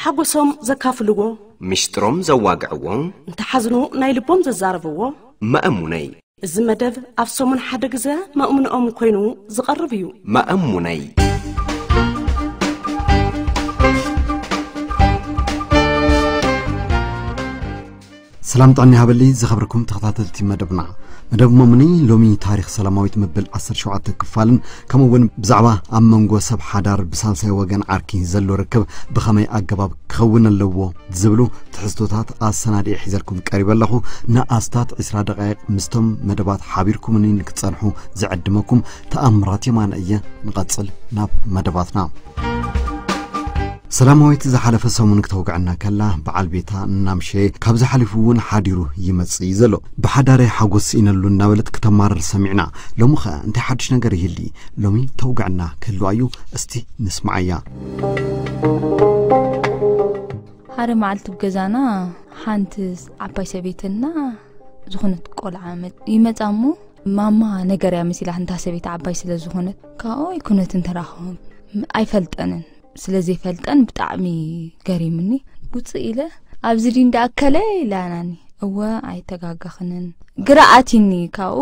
ሓጎሶም ዘካፍልዎ፣ ምሽጥሮም ዘዋግዕዎ፣ እንተሓዝኑ ናይ ልቦም ዘዛረብዎ። መእሙነይ። እዚ መደብ ኣብ ሰሙን ሓደ ግዘ መእሙንኦም ኮይኑ ዝቐርብ እዩ። መእሙነይ። ሰላም ጥዕና ይሃበሊ ዝኸብርኩም ተኸታተልቲ መደብና። መደብ መሙኒ ሎሚ ታሪኽ ሰላማዊት መበል ዓሰርተ ሸውዓተ ክፋልን ከምኡ እውን ብዛዕባ ኣብ መንጎ ሰብ ሓዳር ብሳልሳይ ወገን ዓርኪ ዘሎ ርክብ ብኸመይ ኣገባብ ክኸውን ኣለዎ ዝብሉ ትሕዝቶታት ኣሰናዲኤ ሒዘልኩም ቀሪበ ኣለኹ። ንኣስታት ዕስራ ደቃይቕ ምስቶም መደባት ሓቢርኩምኒ ንክትጸንሑ ዝዕድመኩም ተኣምራት የማነ እየ። ንቐጽል ናብ መደባትና። ሰላማዊት ዝሓለፈ ሰሙን ክተውግዐና ከላ በዓል ቤታ እናምሸየ ካብዚ ሓሊፉ እውን ሓዲሩ ይመጽእ እዩ ዘሎ። ብሓዳረይ ሓጎስ ስኢነሉ እናበለት ክተማረር ሰሚዕና። ሎሚ ኸ እንታይ ሓድሽ ነገር ይህሊ? ሎሚ ተውግዐና ክህልዋ እዩ። እስቲ ንስማዓያ። ሓደ መዓልቲ ብገዛና ሓንቲ ዓባይ ሰበይትና ዝኾነት ቆልዓ መ- ይመጻ እሞ ማማ ነገር እያ መሲላ እንታ ሰበይቲ ዓባይ ስለ ዝኾነት ካብኡ ኣይኮነትን ተራኸቦም ኣይፈልጠንን። ስለ ዘይፈልጠን ብጣዕሚ ገሪምኒ። ውፅእ ኢለ ኣብዚ ድዩ እንዳኣከለ ኢላናኒ። እወ ኣይተጋጋኽንን። ግራ ኣቲኒ ካብኡ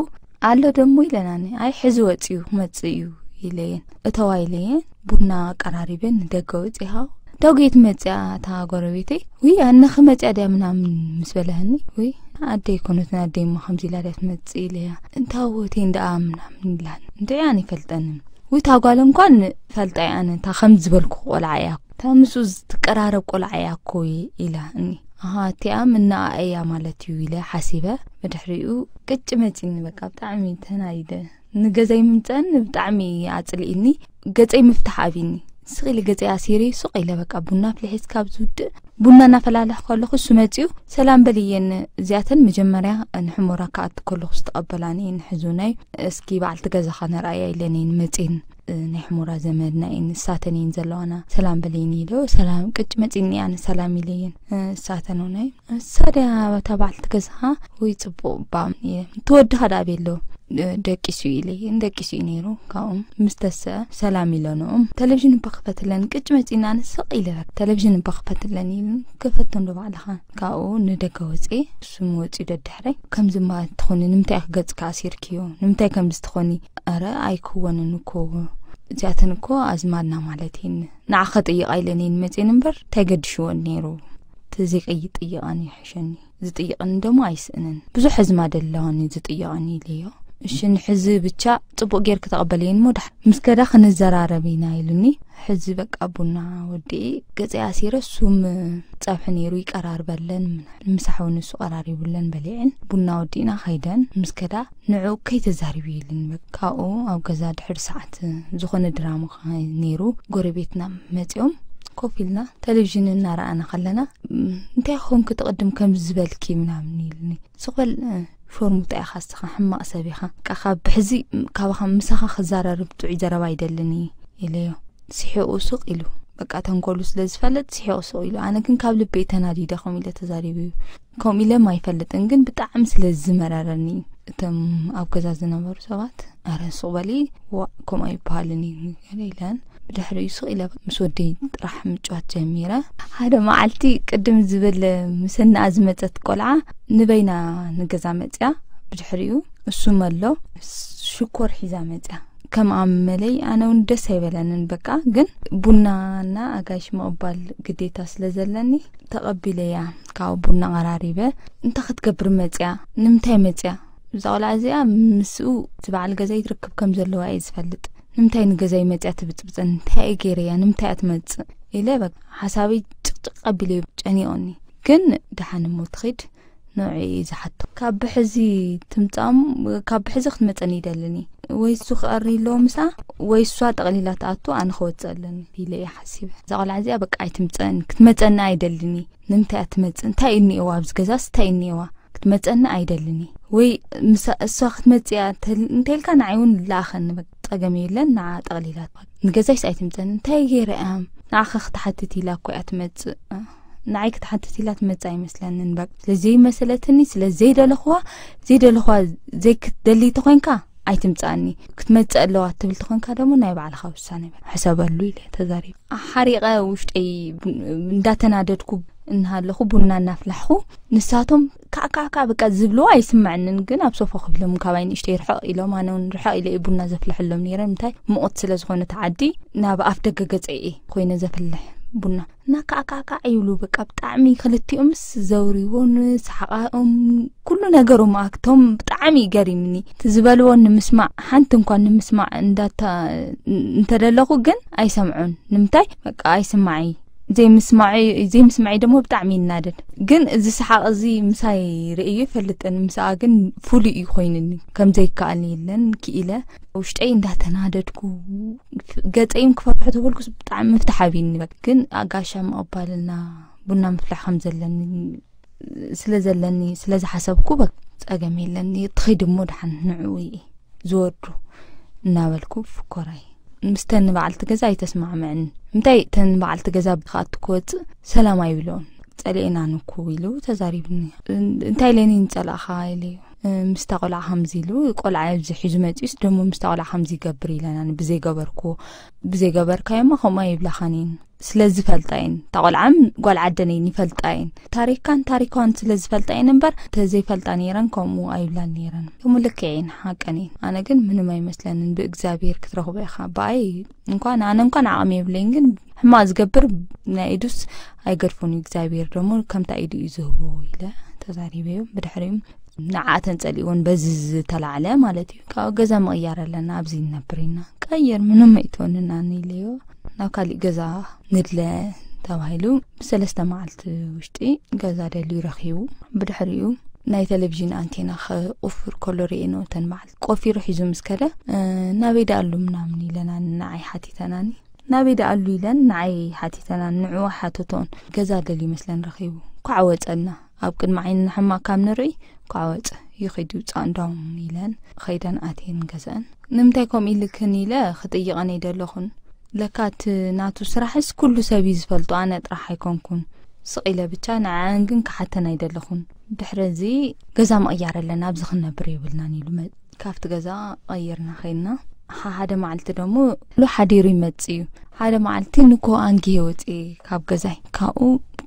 ኣሎ ደሞ ኢለናኒ። ኣይ ሕዚ ወፂኡ ክመፅእ እዩ ኢለየን እተዋ ኢለየን ቡና ኣቀራሪበን ንደገ ወፂኻ ዳውጌት መፅያ እታ ጎረቤተይ ውይ ኣነ ክመፅያ ድያ ምናምን ምስ በለህኒ ውይ ኣደይ ኮነትን ኣደይ እሞ ከምዚ ኢላ ድያ ትመፅእ ኢለያ እንታ ወቴን ደኣ ምናምን ኢላን እንድዒ ኣነ ይፈልጠንን ውይ እታ ጓል እንኳን ፈልጣ እያ ኣነ እታ ከም ዝበልኩ ቆልዓ እያ እታ ምስኡ ዝትቀራረብ ቆልዓ እያ እኮ ኢላ እኒ ኣሃ እቲኣ ምናኣ እያ ማለት እዩ ኢለ ሓሲበ ብድሕሪኡ ቅጭ መፂኒ በቃ ብጣዕሚ ተናዲደ ንገዛይ ምምፀን ብጣዕሚ ኣፅልኢኒ ገፀይ ምፍታሕ ኣብኒ ስቕ ኢለ ገፀይ ኣሲሪ ሱቕ ኢለ በቃ ቡና ኣፍሊሐ ካብ ዝውድእ ቡና እናፈላለሕ ከለኹ እሱ መፂኡ ሰላም በልየን እዚኣተን መጀመርያ ንሕሞራ ክኣቱ ከለኹ ዝተቐበላኒ ንሕዙናይ እስኪ በዓልቲ ገዛኻ ነርኣያ ኢለኒ መፅን ናይ ሕሞራ ዘመድና እየን ንሳተን እየን ዘለዋና ሰላም በልየኒ ኢለ ሰላም ቅጭ መፂኒ ኣነ ሰላም ኢለየን ንሳተን ናይ ንሳ ድያ እታ በዓልቲ ገዛኻ ወይ ፅቡቕ እባ ትወድኻ ደኣ ቤሎ ደቂሱ ኢለየን ደቂሱ እዩ ነይሩ ካብኦም ምስ ተሰአ ሰላም ኢለንኦም ተለቪዥን እባ ክፈትለን ቅጭ መፂና ንስቕ ኢለ ተለቪዥን እባ ክፈትለን ኢሉ ከፈቶ እንዶ ባዕልኻ ካብኡ ንደገ ወፅኤ እሱም ወፂኡ ደድሕረይ ከምዚ እባ ትኾኒ ንምንታይ ኢኺ ገፅካ ኣሲርክዮ ንምንታይ ከምዚ ትኾኒ ኣረ ኣይክወንን እኮ እዚኣተን እኮ ኣዝማድና ማለት እየን ንዓኻ ጥይቓ ኢለን እየን መፅየን እምበር እንታይ ገድሽወን ነይሩ ተዘይቀይጥ ጥይቓን ይሕሸኒ ዝጥይቕኒ ደሞ ኣይስእንን ብዙሕ ኣዝማድ ኣለዋኒ ዝጥይቐኒ ኢለዮ እሽን ሕዚ ብቻ ፅቡቅ ጌርክ ተቐበለየን እሞ ዳሕ ምስ ከዳ ክንዘራረብ ኢና ኢሉኒ ሕዚ በቃ ቡና ወዲኢ ገፀይ ኣሲረ ሱም ፀብሒ ነይሩ ይቀራርበለን ምሳሕ እውን እሱ ቀራሪቡለን በሊዐን ቡና ወዲእና ከይደን ምስ ከዳ ንዑ ከይተዛሪቡ ኢሉኒ በቃ ካብኡ ኣብ ገዛ ድሕሪ ሰዓት ዝኾነ ድራማ ነይሩ ጎረቤትና መፂኦም ኮፍ ኢልና ተሌቪዥን እናረኣና ከለና እንታይ ኾንክ ትቕድም ከም ዝበልኪ ምናምን ኢሉኒ ስቕ በል ፎርሙጣ ኢኻ እስኻ ሕማቕ ሰብ ኢኻ በቃ ካብ ብሕዚ ካባኻ ምሳኻ ክዘራርብ ጥዑይ ዘረባ ኣይደልን ኢለዮ ስሒቑ ሱቕ ኢሉ በቃ ተንኮሉ ስለ ዝፈልጥ ስሒቑ ሱቕ ኢሉ ኣነ ግን ካብ ልበይ ተናዲደ ከምኡ ኢለ ተዛሪቡ እዩ ከምኡ ኢለ ማይፈልጥን ግን ብጣዕሚ ስለ ዝመረረኒ እቶም ኣብ ገዛ ዝነበሩ ሰባት ኣረ ሱቕ በሊ ዋእ ከምኡ ኣይበሃልን እዩ ገለ ኢለን ብድሕሪኡ ሱቕ ኢለ ምስ ወደይ ጥራሕ ምጭዋት ጀሚረ ሓደ መዓልቲ ቅድም ዝብል ምስ እንኣ ዝመፀት ቆልዓ ንበይና ንገዛ መፅያ ብድሕሪኡ እሱም ኣሎ ሽኮር ሒዛ መፅያ ከም ኣመለይ ኣነ እውን ደስ ኣይበለንን በቃ ግን ቡናና ኣጋይሽ ምቕባል ግዴታ ስለ ዘለኒ ተቐቢለያ ካብ ቡና ቀራሪበ እንታይ ክትገብር መፅያ ንምንታይ መፅያ እዛ ቆልዓ እዚኣ ምስኡ እቲ በዓል ገዛይ ትርክብ ከም ዘለዋ እየ ዝፈልጥ ንምንታይ ንገዛይ መፅያ ትብፅብፅን እንታይ እየ ገይረያ ንምንታይ እያ ትመፅእ ኢለ በቃ ሓሳበይ ጭቕጭቕ ኣቢለ ጨኒቑኒ ግን ደሓን እሞ ትኺድ ንዑ እዩ ዝሓቶ ካብ ብሕዚ ትምፃም ካብ ብሕዚ ክትመፀኒ ይደልን እዩ ወይ እሱ ክቐሪ ኣለዎ ምሳ ወይ እሷ ጠቕሊላ ትኣቱ ኣነ ክወፅእ ኣለኒ ኢለ እየ ሓሲበ እዛ ቆልዓ እዚኣ በቃ ኣይትምፀኒ ክትመፀኒ ኣይደልን እዩ ንምንታይ እያ ትመፅእ እንታይ እዩ እኒኤዋ ኣብዚ ገዛስ እንታይ እዩ እኒኤዋ ክትመፀኒ ኣይደልን እዩ ወይ ምሳ እሷ ክትመፅእ እያ እንተ- እንተልካ ንዓይ እውን ለኣኸኒ በቃ ፀገም የለን ንዓ ጠቕሊላ ንገዛይስ ኣይትምፀኒ እንታይ ገይረ እያ ንዓኸ ክትሓትት ኢላ እኮ እያ ትመፅእ ንዓይ ክትሓትት ኢላ ትመፅእ ኣይመስለንን በቃ ስለዘይመሰለትኒ ስለዘይደለኽዋ ዘይደለኽዋ ዘይክትደሊ ተኾይንካ ኣይትምጻኒ። ክትመጽእ ኣለዋ ትብል ትኾንካ ደሞ ናይ ባዕልኻ ውሳነ ሕሰበሉ ኢለ ተዛሪበ። ሓሪቐ ውሽጠይ እንዳተናደድኩ እናሃለኹ ቡና እናፍላሕኹ ንሳቶም ካዕካዕካዕ በቃ ዝብልዎ ኣይስምዐንን፣ ግን ኣብ ሶፋ ኮፍ ኢሎም ካባይ ንእሽተይ ርሕቕ ኢሎም፣ ኣነ እውን ርሕቕ ኢለ እየ ቡና ዘፍልሐሎም ነይረ። ምንታይ ምቑት ስለ ዝኾነ እቲ ዓዲ ናብ ኣፍ ደገ ገጸይ እየ ኮይነ ዘፍልሕ ቡና። እና ካዕካዕካዕ ይብሉ በቃ ብጣዕሚ ክልቲኦምስ ዘውሪዎን ሰሓቓኦም ኩሉ ነገሮም ኣክቶም ብጣዕሚ ገሪምኒ። እቲ ዝበልዎ ንምስማዕ ሓንቲ እንኳን ንምስማዕ እንዳታ እንተደለኹ ግን ኣይሰምዑን። ንምንታይ በቃ ኣይስማዕ ዘይምስማዕ ዘይምስማዕ ደሞ ብጣዕሚ ይናደድ። ግን እዚ ሰሓቕ እዚ ምሳይ ርእዩ ይፈልጥን ምስኣ ግን ፍሉይ እዩ ኮይንኒ። ከም ዘይከኣል የለን ክኢለ ውሽጠይ እንዳተናደድኩ ገጸይም ክፈፍሕ ተበልኩስ ብጣዕሚ ምፍታሕ ኣብይኒ። በቃ ግን ኣጋሻ ምቕባልና ቡና ምፍላሕ ከም ዘለኒ ስለ ዘለኒ ስለ ዝሓሰብኩ በቃ ጸገም የለኒ። ትኸይድ እሞ ደሓን ንዕኡ እየ ዝወዱ እናበልኩ ፍኮራይ ምስተን በዓልቲ ገዛ ኣይተስማዕምዕን። እንታይ ተን በዓልቲ ገዛ ብኻቱ ክወጽእ ሰላም ኣይብሎን። ጸሊኤና ንኩ ኢሉ ተዛሪብኒ። እንታይ ኢለኒ ንጸላእኻ ኢለዮ። ምስታ ቆልዓ ከምዚ ኢሉ ቆልዓ ኣብዚ ሒዙ መጺኡስ ደሞ ምስታ ቆልዓ ከምዚ ይገብር ኢለና ብዘይገበርኩዎ ብዘይገበርካዮማ ከምኡ ኣይብላኻን እየን። ስለ ዝፈልጣ እየን። እታ ቆልዓም ጓል ዓደን እየን ይፈልጣ እየን። ታሪካን ታሪኳን ስለ ዝፈልጣ እየን እምበር ተዘይፈልጣ ነይረን ከምኡ ኣይብላን ነይረን። ከምኡ ልክዕ እየን ሓቀን እየን። ኣነ ግን ምንም ኣይመስለንን ብእግዚኣብሔር ክትረኽቦ ኢኻ። ብኣይ እንኳን ኣነ እንኳን ዓቕሚ የብለይን ግን ሕማቕ ዝገብር ናይ ኢዱስ ኣይገድፎን እዩ እግዚኣብሔር ደሞ ከምታ ኢዱ እዩ ዝህቦ ኢለ ተዛሪበዮ። ብድሕሪኡ ንዓኣተን ጸሊእወን በዚ ዝተላዕለ ማለት እዩ። ካብ ገዛ ምቕያር ኣለና ኣብዚ ንነብር ኢና ቀይር ምንም ኣይትወንና ኢለዮ። ናብ ካሊእ ገዛ ንድለ ተባሂሉ ብሰለስተ መዓልቲ ውሽጢ ገዛ ደልዩ ረኺቡ። ብድሕሪኡ ናይ ቴሌቪዥን ኣንቴና ክቁፍር ከሎ ርእየ ነተን በዓል ቆፊሩ ሒዙ ምስ ከደ ናበይ ደኣሉ ምናምን ኢለና ንዓይ ሓቲተናኒ። ናበይ ደኣሉ ኢለን ንዓይ ሓቲተናኒ ንዕኡ ሓተቶን። ገዛ ደልዩ መስለን ረኺቡ ኳዕ ወጸና። ኣብ ቅድሚ ዓይንና ሕማቕ ካብ ንርኢ ኳዕ ወጸ። ይኺድ ይውጻእ እንዳውም ኢለን ኸይደን ኣትየን ገዛን። ንምንታይ ከምኡ ኢልክን ኢለ ክጥይቐን ኣይደለኹን። ለካ እቲ ናቱ ስራሕስ ኩሉ ሰብ እዩ ዝፈልጦ ኣነ ጥራሕ ኣይኮንኩን። ስቕ ኢለ ብቻ ንዓን ግን ክሓተን ኣይደለኹን። ድሕሪ እዚ ገዛ ምቕያር ኣለና ኣብዚ ክንነብር የብልናን ኢሉ መ- ካብቲ ገዛ ቀይርና ኸይድና። ሓደ መዓልቲ ደሞ ሉ ሓዲሩ ይመጽእ እዩ። ሓደ መዓልቲ ንኮ ኣንጊሄ ወጽኤ ካብ ገዛይ ካብኡ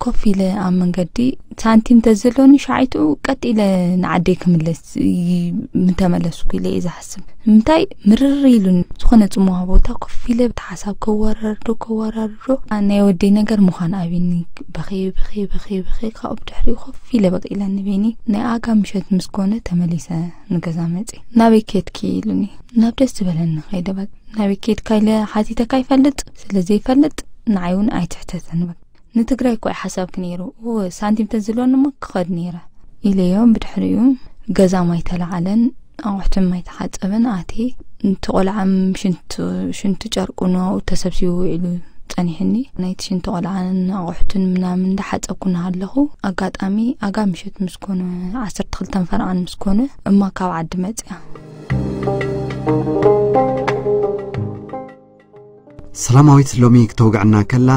ኮፍ ኢለ ኣብ መንገዲ ሳንቲም ተዘሎኒ ሻዒቱ ቀጥ ኢለ ንዓደይ ክምለስ ምተመለስኩ ኢለ እየ ዝሓስብ። ንምንታይ ምርር ኢሉን ዝኾነ ጽሙዋ ቦታ ኮፍ ኢለ ብቲ ሓሳብ ከወራርዶ ከወራርዶ ናይ ወደይ ነገር ምዃን ኣብኒ በኸ በኸ በኸ በኸ ካብኡ ብድሕሪኡ ኮፍ ኢለ በቂ ኢለ ንበይኒ ናይ ኣጋ ምሸት ምስ ኮነ ተመሊሰ ንገዛ መጺ ናበይ ኬድኪ ኢሉኒ ናብ ደስ ዝበለኒ ከይደ በቃ ናበይ ኬድካ ኢለ ሓቲተካ ይፈልጥ ስለ ዘይፈልጥ ንዓይ እውን ኣይትሕተተን በቃ ንትግራይ እኮ ሓሳብክ ነይሩ እወ ሳንቲም ተዝህልወኒ እሞ ክኸድ ነይረ ኢለዮም ብድሕሪኡ ገዛ ማይ ተለዓለን ኣቑሕትን ማይ ተሓፀበን ኣትየ እቲ ቆልዓ ሽንቲ ጨርቁ ንዋኡ ተሰብሲቡ ውዒሉ ጸኒሕኒ ናይቲ ሽንቲ ቆልዓን ኣቑሕትን ምናምን እንዳሓጸብኩ እናሃለኹ ኣጋጣሚ ኣጋ ምሸት ምስ ኮነ ዓሰርተ ክልተን ፈረቓን ምስ ኮነ እማ ካብ ዓዲ መጽያ ሰላማዊት ሎሚ ክተውግዐና ከላ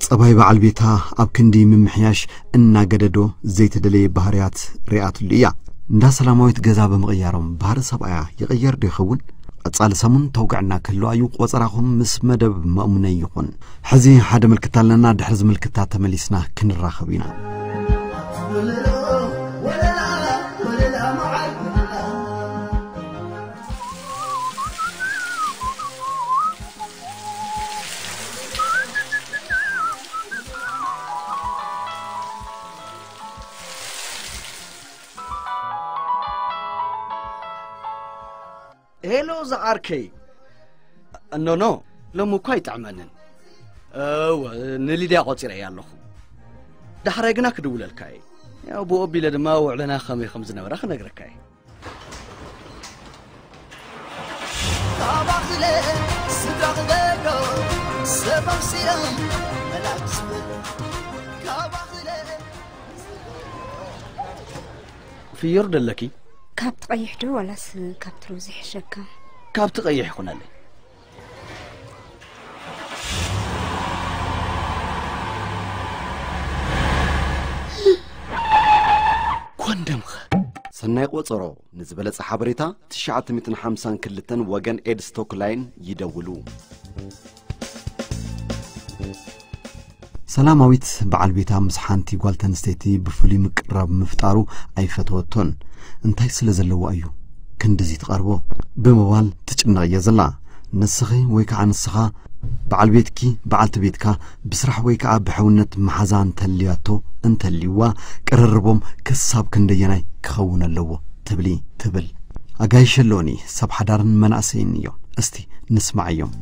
ጸባይ በዓል ቤታ ኣብ ክንዲ ምምሕያሽ እናገደዶ ዘይተደለየ ባህርያት ሪኣትሉ እያ። እንዳ ሰላማዊት ገዛ ብምቕያሮም ባህሪ ሰብኣያ ይቕየር ዶ ይኸውን? ቀጻሊ ሰሙን ተውግዐና ክህልዋ እዩ። ቆጸራኹም ምስ መደብ መእሙነይ ይኹን። ሕዚ ሓደ ምልክታ ኣለና። ድሕሪ ዝምልክታ ተመሊስና ክንራኸብ ኢና። ሄሎ ዝዓርከይ። ኖኖ፣ ሎሚ እኳ ኣይጥዕመንን። እወ፣ ንሊድያ ቆጺረያ ኣለኹ። ዳሕራይ ግና ክድውለልካ እየ። ያው ብኡ ኣቢለ ድማ ውዕለና ከመይ ከም ዝነበረ ክነግረካ እየ። ካባኽለ ስድራ ክገዶ ሰብ ኣምሲሎም መላክ ዝብል ካባኽለ ፍዮር ደለኪ? ካብቲ ቀይሕ ዶ ዋላስ ካብቲ ሮዝ ይሕሸካ? ካብቲ ቀይሕ ይኹነለይ። ኮንደምኸ? ሰናይ ቆጸሮ። ንዝበለጸ ሓበሬታ ትሽዓተ ሚእትን ሓምሳን ክልተን ወገን ኤድስ ቶክላይን ይደውሉ። ሰላማዊት በዓል ቤታ ምስ ሓንቲ ጓል ተንስተይቲ ብፍሉይ ምቅርራብ ምፍጣሩ ኣይፈተወቶን። እንታይ ስለ ዘለዋ እዩ ክንድዚ ትቐርቦ? ብምባል ትጭነቕ እያ ዘላ። ንስኺ ወይ ከዓ ንስኻ በዓል ቤትኪ፣ በዓልቲ ቤትካ ብስራሕ ወይ ከዓ ብሕውነት መሓዛ እንተልያቶ፣ እንተልይዋ፣ ቅርርቦም ክሳብ ክንደየናይ ክኸውን ኣለዎ ትብሊ? ትብል። ኣጋይሽ ኣለዉኒ፣ ሰብ ሓዳርን መናእሰይን እዮም። እስቲ ንስማዓዮም።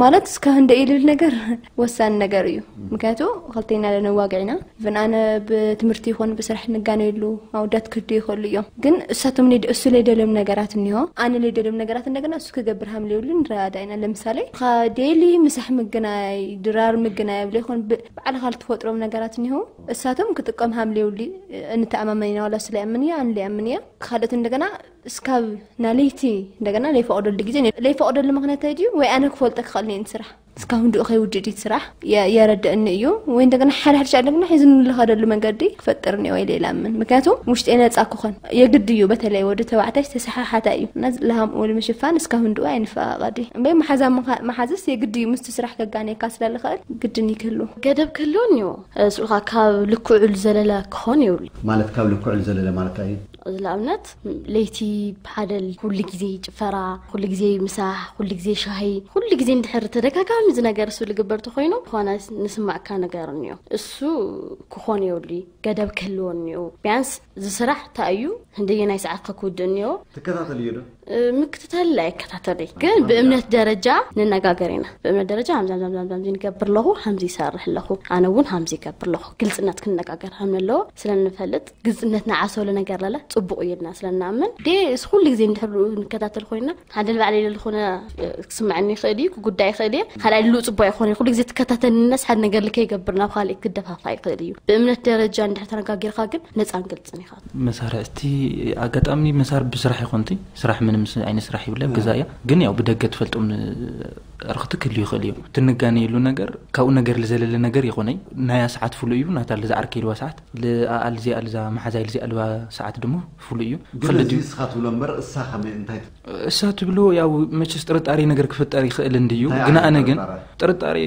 ማለት እስከ ህንደ ኢልል ነገር ወሳኒ ነገር እዩ። ምክንያቱ ክልቴና ለነዋግዕ ኢና። ብን ኣነ ብትምህርቲ ይኹን ብስራሕ ንጋነየሉ ኣውዳት ክህዱ ይኽእሉ እዮም። ግን እሳቶም ለይደ-፣ እሱ ለይደልዮም ነገራት እኒሆ፣ ኣነ ለይደልዮም ነገራት እንደገና እሱ ክገብር ሃምለ ይብሉ ንረዳዳ ኢና። ለምሳሌ ኻ ዴሊ ምሳሕ ምግናይ፣ ድራር ምግናይ ብለ ይኹን ብ-፣ ባዕልኻ ልትፈጥሮም ነገራት እኒሆ፣ እሳቶም ክጥቀም ሃምለ ይብሉ። እንተኣማመን ኢና ዋላ እሱ ለይኣምን እያ፣ ኣነ ለይኣምን እያ። ካልኦት እንደገና እስካብ ናለይቲ እንደገና ለይፈቕደሉ ግዜ፣ ለይፈቕደሉ ምኽንያት እንታይ ድዩ? ወይ ኣነ ክፈልጦ ክኽእል እየ ንስራሕ። እስካብ ህንድኡ ከይውድእ ድዩ ስራሕ? የ-፣ የረድእኒ እዩ። ወይ እንደገና ሓደ ሓደ ሻዕ እንደገና ሒዙ ንልኸደሉ መንገዲ ክፈጥር እኒኦ ኢለ ኢላምን። ምክንያቱ ውሽጤ ነጻ ክኾን የግድ እዩ። በተለይ ወዲ ተባዕታይ ዝተሰሓሓታ እዩ። እና ለሃምኡ ንምሽፋን እስካብ ህንድኡ ኣይንፈቓቐድ እዩ። እምበይ መሓዛ ምኻ-፣ መሓዝስ የግድ እዩ። ምስቲ ስራሕ ከጋንየካ ስለ ልኽእል ግድን እዩ ክህሉ። ገደብ ክህልዎ እኒኦ። እ፣ ስኡልካ ካብ ልክዑ ዝዘለለ ክኾን የብሉ። ማለት ካብ ልክዑ ዝዘለለ ማለት እንታይ እዩ? እዚ ንኣብነት ለይቲ ሓደ ኩሉ ግዜ ጭፈራ፣ ኩሉ ግዜ ምሳሕ፣ ኩሉ ግዜ ሻሂ፣ ኩሉ ግዜ እንድሕር ተደጋጋሚ እዚ ነገር እሱ ልግበር ተኾይኑ፣ ዝኾነ ንስማዕካ ነገር እኒኦ። እሱ ክኾን የብሉ፣ ገደብ ክህልዎ እኒኦ። ቢያንስ እዚ ስራሕ እንታይ እዩ፣ ህንደየናይ ሰዓት ከ ክውድእ እኒኦ? ትከታተል እዩ ዶ? እ፣ ምክትታል ኣይከታተል እዩ። ግን ብእምነት ደረጃ ንነጋገር ኢና። ብእምነት ደረጃ ሃምዚ፣ ሃምዚ፣ ሃምዚ፣ ሃምዚ ንገብር ኣለኹ፣ ሃምዚ ይሰርሕ ኣለኹ፣ ኣነ እውን ሃምዚ ይገብር ኣለኹ። ግልጽነት ክንነጋገር ሃም ኣለዎ ስለ ንፈልጥ፣ ግልጽነት ንዓሰሉ ነገር ለለ ጽቡቕ እዩ ኢልና ስለ ንኣምን፣ ዴ፣ እስ ኩሉ ግዜ እንድሕር ንከታተል ኮይና፣ ሓደ ንባዕለይ ለለ ዝኾነ፣ እ፣ ክስምዐኒ ይኽእል እዩ፣ ክጉዳይ ይኽእል እየ። ካልኣይ ልኡ ጽቡቕ ኣይኮነ፣ ኩሉ ግዜ ትከታተልነስ ሓደ ነገር ልከ ይገብር፣ ናብ ካልእ ክደፋፋ ይኽእል እዩ። ብእምነት ደረጃ እንድሕር ተነጋጊርካ ግን ነጻን ግልጽን ኢኻ። መሳርሕቲ ኣጋጣሚ መሳር ብስራሕ ይኾንቲ፣ ስራሕ ምንም ስ-፣ ዓይነት ስራሕ ይብለ፣ እ። ገዛ እያ። ግን ያው ብደገ ትፈልጦም ን-፣ ኣርኽቲ ክህልዩ ይኽእል እዩ። ትንጋነየሉ ነገር፣ ካብኡ ነገር ልዘለለ ነገር ይኾነይ። ናያ ሰዓት ፍሉይ እዩ፣ ናታ ልዝዓርከ ኢልዋ ሰዓት፣ ልኣኣል ዚኣልዛ መሓዛይ ልዚኣልዋ ሰዓት ድማ ፍሉይ እዩ። ግን ክልድ እዚ እዩ። እስኻ ትብሎ እምበር እሳ ከመይ እንታይ ት-? እሳ ትብሎ ያው መቸስ ጥርጣሬ ነገር ክፍጠር ይኽእል እንድዩ። እንታይ ግን ዓይነት ኣነ ግን ጥርጣሬ? ጥርጣሬ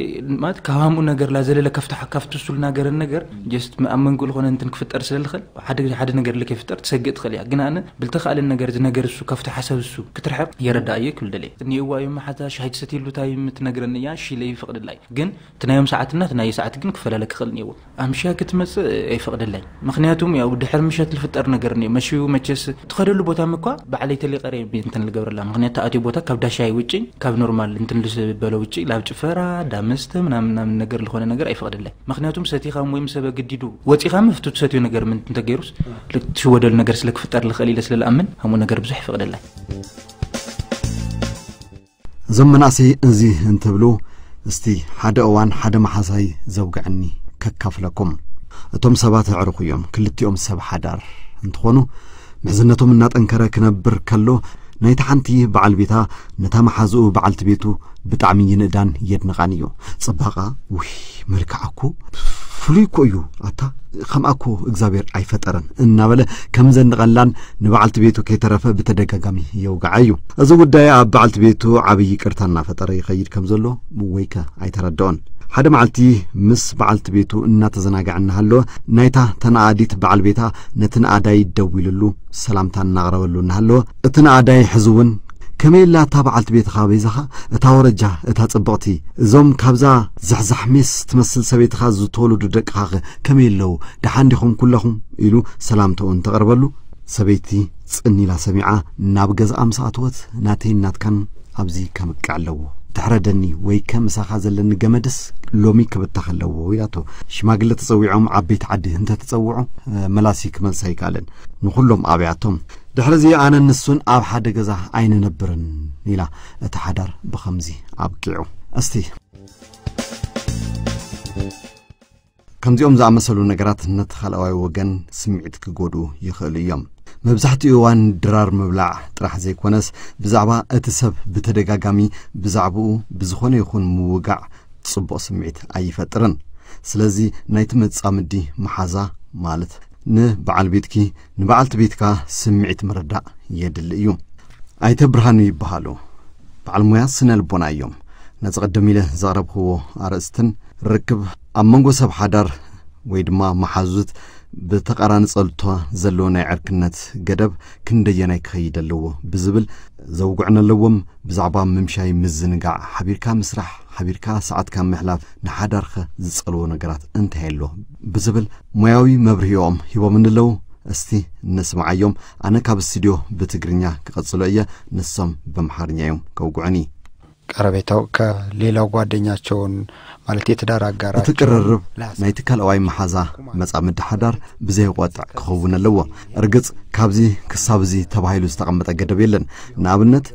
ማለት ካብ ሃምኡ ነገር ላዘለለ ከፍታ-፣ ካብቲ እሱ ልናገረን ነገር ጀስት ኣብ መንጎ ልኾነ እንትን ክፍጠር ስለ ልኽእል ሓደ ግዜ ሓደ ነገር ልከይፍጠር ትሰግእ ትኽእል እያ። ግን ኣነ ብልተኻእለን ነገር እዚ ነገር እሱ ካብቲ ሓሳብ እሱ ክትርሕቕ የረዳእዮ ክብል ደልየ። እኒእዋ እዮም መሓዛ ሻሂ ትሰትየሉ እንታይ የምትነግረኒ እያ፣ እሺ ኢለ ይፈቕደላ እዩ። ግን እቲ ናዮም ሰዓትና እቲ ናየ ሰዓት ግን ክፈላለ ክኽእል እኒእዎ። ኣምሽያ ክትመጽእ ኣይፈቕደላይ። ምኽንያቱም ያው ድሕር ምሸት ልፍጠር ነገር እኒኦ። መሽዩ መቸስ ትኸደሉ ቦታ እኳ ባዕለይ ተሊቐረ እንትን ልገብረላ። ምኽንያቱ ተኣትዮ ቦታ ካብ ዳሻይ ውጪ፣ ካብ ኖርማል እንትን ልስበሎ ውጪ፣ ላብ ጭፈራ፣ ዳመስተ ምናምን ምናምን ነገር ልኾነ ነገር ኣይፈቕደላይ። ምኽንያቱም ሰቲኻ ወይ ምስ ሰብ ኣገዲዱ ወጺኻ ምፍቱ ትሰትዮ ነገር ምን እንተገይሩስ፣ ልትሽወደሉ ነገር ስለ ክፍጠር ልኽእል ኢለ ስለ ልኣምን፣ ሃምኡ ነገር ብዙሕ ይፈቕደላይ። እዞም መናእሰይ እዚ እንትብሉ፣ እስቲ ሓደ እዋን ሓደ መሓዛይ ዘውግዐኒ ከካፍለኩም። እቶም ሰባት ኣዕሩኽ እዮም፣ ክልቲኦም ሰብ ሓዳር እንትኾኑ፣ ምሕዝነቶም እናጠንከረ ክነብር ከሎ፣ ናይቲ ሓንቲ በዓል ቤታ ነታ መሓዝኡ በዓልቲ ቤቱ ብጣዕሚ ይንእዳን የድንቓን እዩ። ጽባቐ፣ ውይ፣ መልክዓ እኮ ፍሉይ እኮ እዩ፣ ኣታ ከምኣ እኮ እግዚኣብሔር ኣይፈጠረን እናበለ ከም ዘንቐላን ንበዓልቲ ቤቱ ከይተረፈ ብተደጋጋሚ የውግዓ እዩ። እዚ ጉዳይ ኣብ በዓልቲ ቤቱ ዓብዪ ይቅርታ እናፈጠረ ይኸይድ ከም ዘሎ ወይከ ኣይተረድኦን። ሓደ መዓልቲ ምስ በዓልቲ ቤቱ እናተዘናግዐ እናሃለወ ናይታ ተነኣዲት በዓል ቤታ ነቲ ነኣዳይ ደዊሉሉ ሰላምታ እናቕረበሉ እናሃለወ እቲ ነኣዳይ ሕዚ እውን ከመይ ኣላ እታ በዓልቲ ቤትኻ በይዛኻ እታ ወረጃ እታ ጽብቕቲ እዞም ካብዛ ዛሕዛሕ ሜስ ትመስል ሰበይትኻ ዝተወለዱ ደቅኻኸ ከመይ ኣለዉ ደሓን ዲኹም ኩለኹም ኢሉ ሰላምትኡ እንተቕርበሉ ሰበይቲ ጽን ኢላ ሰሚዓ ናብ ገዝኣ ምስ ኣተወት ናተይን ናትካን ኣብዚ ከምቅዕ ኣለዎ ትሕረደኒ ወይ ከምሳኻ ዘለኒ ገመድስ ሎሚ ክብተኽ ኣለዎ ኢላቶ ሽማግለ ተጸዊዖም ዓበይቲ ዓዲ እንተተጸውዑ መላሲ ክመልሳ ኣይከኣለን ንኹሎም ኣብያቶም ድሕርዚ ኣነን ንሱን ኣብ ሓደ ገዛ ኣይንነብርን ኢላ እቲ ሓዳር ብኸምዚ ኣብቂዑ እስቲ ከምዚኦም ዝኣመሰሉ ነገራት ነቲ ካልኣዋይ ወገን ስምዒት ክጎድኡ ይኽእሉ እዮም። መብዛሕትኡ እዋን ድራር ምብላዕ ጥራሕ ዘይኮነስ ብዛዕባ እቲ ሰብ ብተደጋጋሚ ብዛዕባኡ ብዝኾነ ይኹን ምውጋዕ ጽቡቕ ስምዒት ኣይፈጥርን። ስለዚ ናይቲ መጻምዲ መሓዛ ማለት ንበዓል ቤትኪ፣ ንበዓልቲ ቤትካ ስምዒት ምርዳእ የድሊ እዩ። ኣይተ ብርሃኑ ይበሃሉ። በዓል ሞያ ስነ ልቦና እዮም። ነዚ ቀደም ኢለ ዘቕረብክዎ ኣርእስትን ርክብ ኣብ መንጎ ሰብ ሓዳር ወይ ድማ መሓዙት ብተቓራኒ ጸልቶ ዘለዎ ናይ ዕርክነት ገደብ ክንደየናይ ክኸይድ ኣለዎ ብዝብል ዘውግዑ ኣለዎም። ብዛዕባ ምምሻይ፣ ምዝንጋዕ፣ ሓቢርካ ምስራሕ፣ ሓቢርካ ሰዓትካ ምሕላፍ፣ ንሓዳርከ ዝጸልዎ ነገራት እንታይ ኣሎ ብዝብል ሞያዊ መብርሂኦም ሂቦም ኣለዉ። እስቲ ንስምዓዮም። ኣነ ካብ ስቱድዮ ብትግርኛ ክቐጽሎ እየ፣ ንሶም ብምሓርኛ እዮም ከውግዑኒ። ቀረቤታው ከሌላው ጓደኛቸውን ማለት የትዳር እቲ ቅርርብ ናይቲ ካልኣዋይ መሓዛ መጻምዲ ሓዳር ብዘየቋጥዕ ክኸውን ኣለዎ። እርግጽ ካብዚ ክሳብ እዚ ተባሂሉ ዝተቐመጠ ገደብ የለን። ንኣብነት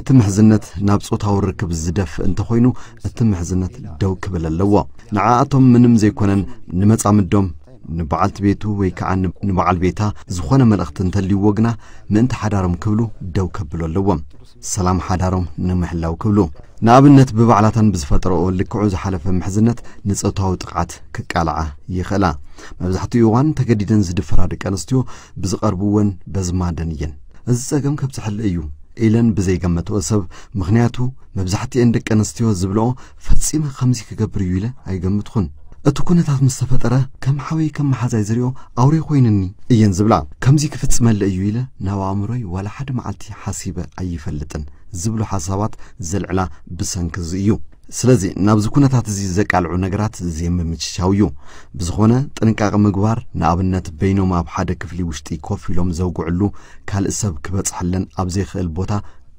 እቲ ምሕዝነት ናብ ጾታዊ ርክብ ዝደፍእ እንተኾይኑ እቲ ምሕዝነት ደው ክብል ኣለዎ። ንዓኣቶም ምንም ዘይኮነን ንመጻምዶም ንበዓልቲ ቤቱ ወይ ከዓ ንበዓል ቤታ ዝኾነ መልእኽቲ እንተልይዎ ግና ምእንቲ ሓዳሮም ክብሉ ደው ከብሉ ኣለዎም። ሰላም ሓዳሮም ንምሕላው ክብሉ ንኣብነት ብባዕላታን ብዝፈጠረኦ ልክዑ ዝሓለፈ ምሕዝነት ንጾታዊ ጥቕዓት ክቃልዓ ይኽእላ። መብዛሕትኡ እዋን ተገዲደን ዝድፈራ ደቂ ኣንስትዮ ብዝቐርብወን በዝማደን እየን። እዚ ጸገም ከብጽሐለ እዩ ኢለን ብዘይገመትኦ ሰብ፣ ምኽንያቱ መብዛሕትኤን ደቂ ኣንስትዮ ዝብልኦ ፈጺመ ከምዚ ክገብር እዩ ኢለ ኣይገምትኹን። እቲ ኩነታት ምስ ተፈጠረ ከም ሓወይ ከም መሓዛይ ዝሪኦ ኣውሬ ኮይንኒ እየን ዝብላ። ከምዚ ክፍጽመለ እዩ ኢለ ናብ ኣእምሮይ ዋላ ሓደ መዓልቲ ሓሲበ ኣይፈልጥን ዝብሉ ሓሳባት ዘልዕላ ብሰንኪ እዚ እዩ። ስለዚ ናብዚ ኩነታት እዚ ዘቃልዑ ነገራት ዘይምምችቻው እዩ። ብዝኾነ ጥንቃቐ ምግባር፣ ንኣብነት በይኖም ኣብ ሓደ ክፍሊ ውሽጢ ኮፍ ኢሎም ዘውግዕሉ ካልእ ሰብ ክበጽሐለን ኣብ ዘይክእል ቦታ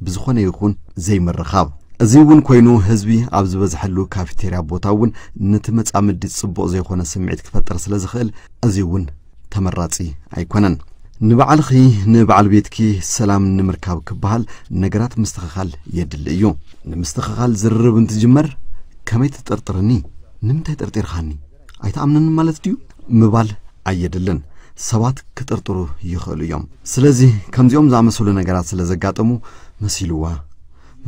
ብዝኾነ ይኹን ዘይምርኻብ። እዚ እውን ኮይኑ ህዝቢ ኣብ ዝበዝሐሉ ካፌቴርያ ቦታ እውን ነቲ መጻምዲ ጽቡቕ ዘይኮነ ስምዒት ክፈጥር ስለ ዝኽእል እዚ እውን ተመራጺ ኣይኮነን። ንባዕልኺ ንበዓል ቤትኪ ሰላም ንምርካብ ክበሃል ነገራት ምስትኽኻል የድሊ እዩ። ንምስትኽኻል ዝርርብ እንትጅመር ከመይ ትጥርጥርኒ? ንምንታይ ጠርጢርኻኒ? ኣይትኣምነኒ ማለት ድዩ? ምባል ኣየድልን። ሰባት ክጥርጥሩ ይኽእሉ እዮም። ስለዚ ከምዚኦም ዝኣመሰሉ ነገራት ስለ ዘጋጠሙ መሲልዋ፣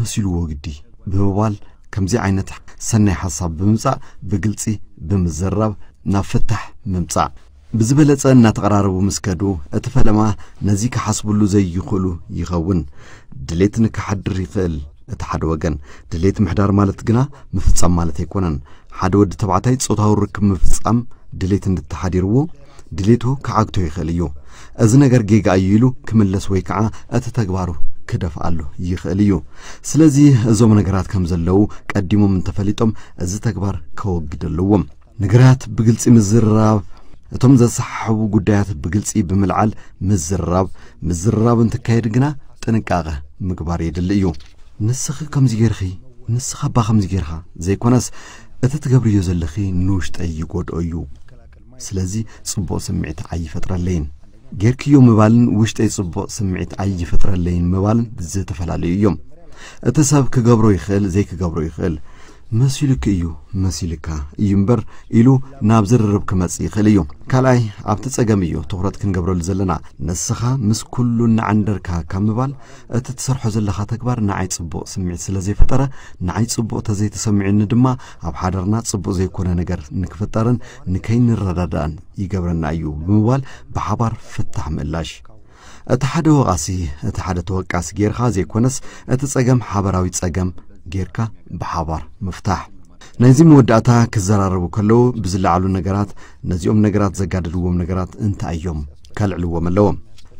መሲልዎ ግዲ ብምባል ከምዚ ዓይነት ሰናይ ሓሳብ ብምምጻእ ብግልጺ ብምዝራብ ናብ ፍታሕ ምምጻእ። ብዝበለጸ እናተቐራረቡ ምስ ከዱ እቲ ፈለማ ነዚ ክሓስብሉ ዘይኽእሉ ይኸውን። ድሌት ንክሓድር ይኽእል እቲ ሓደ ወገን። ድሌት ምሕዳር ማለት ግና ምፍጻም ማለት ኣይኮነን። ሓደ ወዲ ተባዕታይ ጾታዊ ርክብ ምፍጻም ድሌት እንተሓዲርዎ ድሌቱ ክዓግቶ ይኽእል እዩ። እዚ ነገር ጌጋ እዩ ኢሉ ክምለስ ወይ ከዓ እቲ ተግባሩ ክደፍኣሉ ይኽእል እዩ። ስለዚ እዞም ነገራት ከም ዘለዉ ቀዲሞም እንተፈሊጦም እዚ ተግባር ከወግድ ኣለዎም። ነገራት ብግልጺ ምዝርራብ፣ እቶም ዘሰሓሕቡ ጉዳያት ብግልጺ ብምልዓል ምዝርራብ። ምዝርራብ እንትካየድ ግና ጥንቃቐ ምግባር የድሊ እዩ። ንስኺ ከምዚ ጌርኺ፣ ንስኻ እባ ከምዚ ጌርኻ ዘይኮነስ እቲ ትገብርዮ ዘለኺ ንውሽጠይ ይጎድኦ እዩ። ስለዚ ጽቡቕ ስምዒት ኣይፈጥረለይን። ጌርክዮ ምባልን ውሽጠይ ጽቡቕ ስምዒት ኣይፈጥረለይን ምባልን ዝተፈላለዩ እዮም። እቲ ሰብ ክገብሮ ይኽእል፣ ዘይክገብሮ ይኽእል። መሲሉኪ እዩ፣ መሲልካ እዩ እምበር ኢሉ ናብ ዝርርብ ክመጽእ ይኽእል እዩ። ካልኣይ ኣብቲ ጸገም እዩ ትኹረት ክንገብረሉ ዘለና። ንስኻ ምስ ኩሉ እናዓንደርካ ካብ ምባል እቲ ትሰርሖ ዘለኻ ተግባር ንዓይ ጽቡቕ ስምዒት ስለ ዘይፈጠረ ንዓይ ጽቡቕ ተዘይተሰሚዑኒ ድማ ኣብ ሓዳርና ጽቡቕ ዘይኮነ ነገር ንክፍጠርን ንከይንረዳዳእን ይገብረና እዩ ብምባል ብሓባር ፍታሕ ምእላሽ። እቲ ሓደ ወቓሲ እቲ ሓደ ተወቃሲ ጌርካ ዘይኮነስ እቲ ጸገም ሓበራዊ ጸገም ጌርካ ብሓባር ምፍታሕ። ናይዚ መወዳእታ ክዘራረቡ ከለዉ ብዝለዓሉ ነገራት ነዚኦም ነገራት ዘጋደድዎም ነገራት እንታይ እዮም ከልዕልዎም ኣለዎም።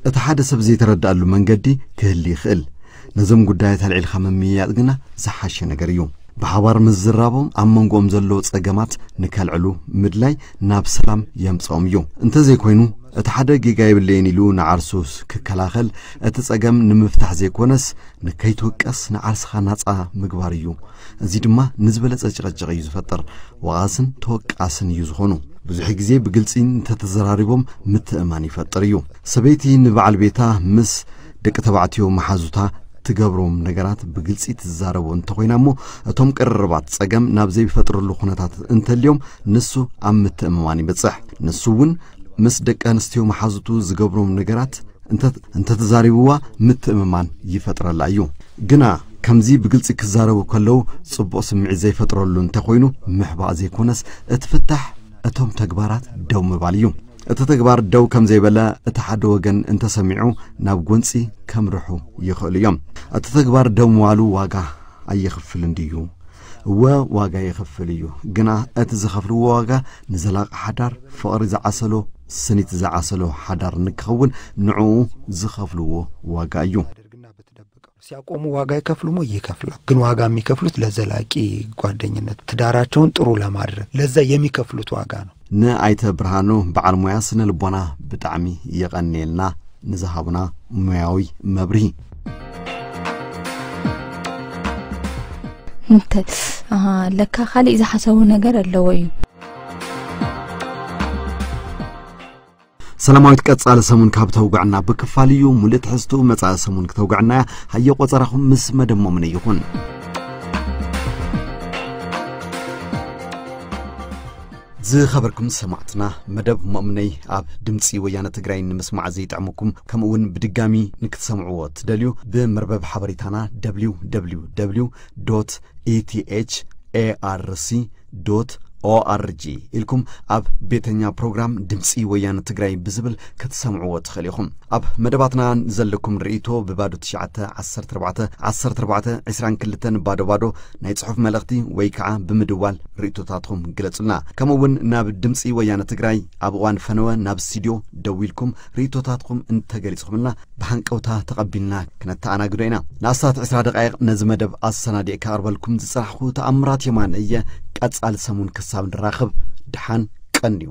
እቲ ሓደ ሰብ ዘይተረድኣሉ መንገዲ ክህሊ ይኽእል። ነዞም ጉዳያት ኣልዒልካ ምምይያጥ ግና ዝሓሸ ነገር እዩ። ብሓባር ምዝራቦም ኣብ መንጎኦም ዘለዉ ጸገማት ንከልዕሉ ምድላይ ናብ ሰላም የምጽኦም እዩ። እንተዘይኮይኑ እቲ ሓደ ጌጋ የብለይን ኢሉ ንዓርሱ ክከላኸል እቲ ጸገም ንምፍታሕ ዘይኮነስ ንከይትውቀስ ንዓርስኻ ናጻ ምግባር እዩ። እዚ ድማ ንዝበለጸ ጭቕጭቕ እዩ ዝፈጥር። ወቓስን ተወቃስን እዩ ዝኾኑ። ብዙሕ ግዜ ብግልጺ እንተተዘራሪቦም ምትእማን ይፈጥር እዩ። ሰበይቲ ንበዓል ቤታ ምስ ደቂ ተባዕትዮ መሓዙታ ትገብሮም ነገራት ብግልጺ ትዛረቦ እንተኾይና እሞ እቶም ቅርርባት ጸገም ናብ ዘይፈጥርሉ ኩነታት እንተልዮም ንሱ ኣብ ምትእምማን ይበጽሕ። ንሱ እውን ምስ ደቂ ኣንስትዮ መሓዙቱ ዝገብሮም ነገራት እንተ- እንተተዛሪብዋ ምትእምማን ይፈጥረላ እዩ። ግና ከምዚ ብግልጺ ክዛረቡ ከለዉ ጽቡቕ ስምዒት ዘይፈጥረሉ እንተኾይኑ ምሕባእ ዘይኮነስ እቲ ፍታሕ እቶም ተግባራት ደው ምባል እዩ። እቲ ተግባር ደው ከም ዘይበለ እቲ ሓደ ወገን እንተሰሚዑ፣ ናብ ጎንጺ ከምርሑ ይኽእሉ እዮም። እቲ ተግባር ደው ምባሉ ዋጋ ኣየኽፍልን ድዩ? እወ፣ ዋጋ የኽፍል እዩ። ግና እቲ ዝኸፍልዎ ዋጋ ንዘላቒ ሓዳር፣ ፍቕሪ ዝዓሰሎ፣ ስኒት ዝዓሰሎ ሓዳር ንክኸውን ንዕኡ ዝኸፍልዎ ዋጋ እዩ። ሲያቆሙ ዋጋ ይከፍሉሞ? ይከፍላል። ግን ዋጋ የሚከፍሉት ለዘላቂ ጓደኝነት፣ ትዳራቸውን ጥሩ ለማድረግ ለዛ የሚከፍሉት ዋጋ ነው። ንኣይተ ብርሃኑ በዓል ሞያ ስነ ልቦና ብጣዕሚ የቐንየልና ንዝሃቡና ሙያዊ መብርሂ። እንተ ኣሃ፣ ለካ ካሊእ ዝሓሰቡ ነገር ኣለዎ እዩ። ሰላማዊት ቀጻሊ ሰሙን ካብ ተውግዕና ብክፋል እዩ። ሙሉእ ትሕዝቱ መጻኢ ሰሙን ክተውግዕና እያ። ሃየ ቆጸራኹም ምስ መደብ ሞምነ ይኹን። ዝኸበርኩም ሰማዕትና፣ መደብ ሞምነይ ኣብ ድምፂ ወያነ ትግራይ ንምስማዕ ዘይጥዕመኩም፣ ከምኡ እውን ብድጋሚ ንክትሰምዕዎ ትደልዩ፣ ብመርበብ ሓበሬታና www etharc org ኢልኩም ኣብ ቤተኛ ፕሮግራም ድምፂ ወያነ ትግራይ ብዝብል ክትሰምዕዎ ትኽእል ኢኹም። ኣብ መደባትና ዘለኩም ርእይቶ ብባዶ ትሽዓተ ዓሰርተ ኣርባዕተ ዓሰርተ ኣርባዕተ ዕስራን ክልተን ባዶ ባዶ ናይ ጽሑፍ መልእኽቲ ወይ ከዓ ብምድዋል ርእይቶታትኩም ግለጹልና። ከምኡ እውን ናብ ድምፂ ወያነ ትግራይ ኣብ እዋን ፈነወ ናብ ስቱድዮ ደዊልኩም ርእይቶታትኩም እንተገሊጽኩምልና ብሃንቀውታ ተቐቢልና ክነተኣናግዶ ኢና። ንኣስታት ዕስራ ደቃይቕ ነዚ መደብ ኣሰናዲእ ከቕርበልኩም ዝጸናሕኩ ተኣምራት የማነ እየ። ቀጻሊ ሰሙን ክሳብ ንራኸብ ድሓን ቀንዩ።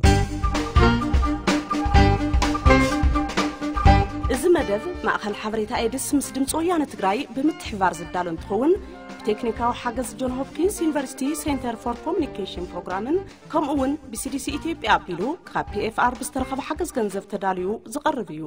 እዚ መደብ ማእኸል ሓበሬታ ኤድስ ምስ ድምፂ ወያነ ትግራይ ብምትሕባር ዝዳሎ እንትኸውን፣ ብቴክኒካዊ ሓገዝ ጆን ሆፕኪንስ ዩኒቨርሲቲ ሴንተር ፎር ኮሚኒኬሽን ፕሮግራምን ከምኡ እውን ብሲዲሲ ኢትዮጵያ ኣቢሉ ካብ ፒኤፍኣር ብዝተረኸበ ሓገዝ ገንዘብ ተዳልዩ ዝቐርብ እዩ።